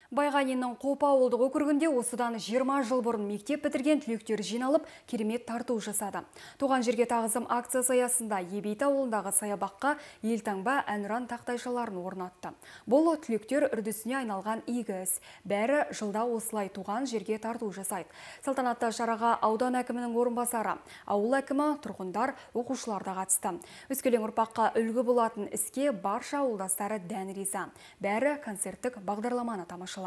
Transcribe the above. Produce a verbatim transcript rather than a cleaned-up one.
Байғаниннің Қопа ауылдық округінде осыдан жиырма жыл бұрын мектеп бітірген түлектер жиналып, керемет тарту жасады. Туған жерге тағзым акциясы аясында Ебейті ауылындағы саябаққа елтаңба әнұран тақтайшаларын орнатты. Бұл түлектер үрдісіне айналған игі іс. Бәрі жылда осылай туған жерге тарту жасайды. Салтанатты шараға аудан әкімінің орынбасары, ауыл әкімі, тұрғындар, оқушылар да қатысты. Өскелең ұрпаққа үлгі болатын іске барша ауылдастары дән риза. Бәрі концерттік бағдарламаны тамашалады.